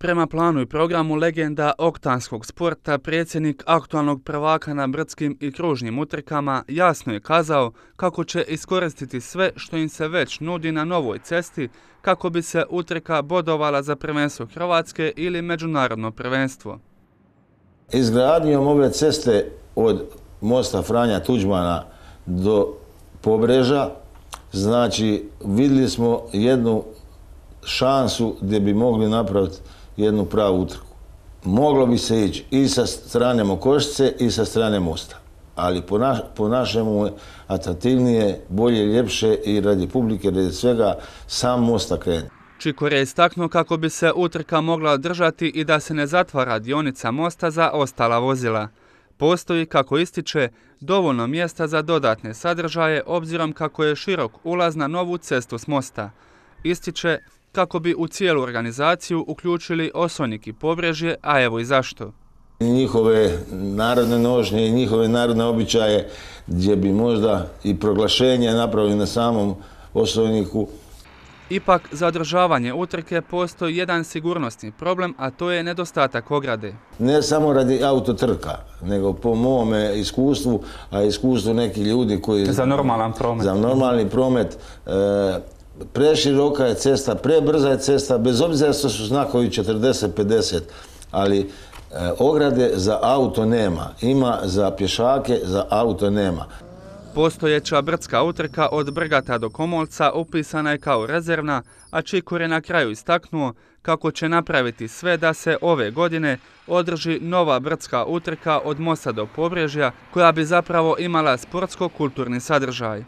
Prema planu i programu legenda oktanskog sporta, predsjednik aktualnog prvaka na brdskim i kružnim utrkama jasno je kazao kako će iskoristiti sve što im se već nudi na novoj cesti kako bi se utrka bodovala za prvenstvo Hrvatske ili međunarodno prvenstvo. Izgradnjom ove ceste od mosta Franja Tuđmana do Pobreža, znači vidjeli smo jednu šansu gdje bi mogli napraviti jednu pravu utrku. Moglo bi se ići i sa strane Mokošice i sa strane mosta, ali po našemu je atraktivnije, bolje, ljepše i radi publike, radi svega sam mosta krene. Čikor je istaknuo kako bi se utrka mogla održati i da se ne zatvara dionica mosta za ostala vozila. Postoji, kako ističe, dovoljno mjesta za dodatne sadržaje obzirom kako je širok ulaz na novu cestu s mosta. Ističe kako bi u cijelu organizaciju uključili Osojnik i Pobrežje, a evo i zašto. Njihove narodne nošnje i njihove narodne običaje gdje bi možda i proglašenje napravili na samom Osojniku. Ipak, za održavanje utrke postoji jedan sigurnosni problem, a to je nedostatak ograde. Ne samo radi autotrka, nego po mome iskustvu, a iskustvu nekih ljudi koji... Za normalan promet. Za normalni promet. Preširoka je cesta, prebrza je cesta, bez obzira što su znakovi 40-50, ali ograde za auto nema. Ima za pješake, za auto nema. Postojeća brdska utrka od Brgata do Komolca upisana je kao rezervna, a Čikor je na kraju istaknuo kako će napraviti sve da se ove godine održi nova brdska utrka od mosta do Pobrežja, koja bi zapravo imala sportsko-kulturni sadržaj.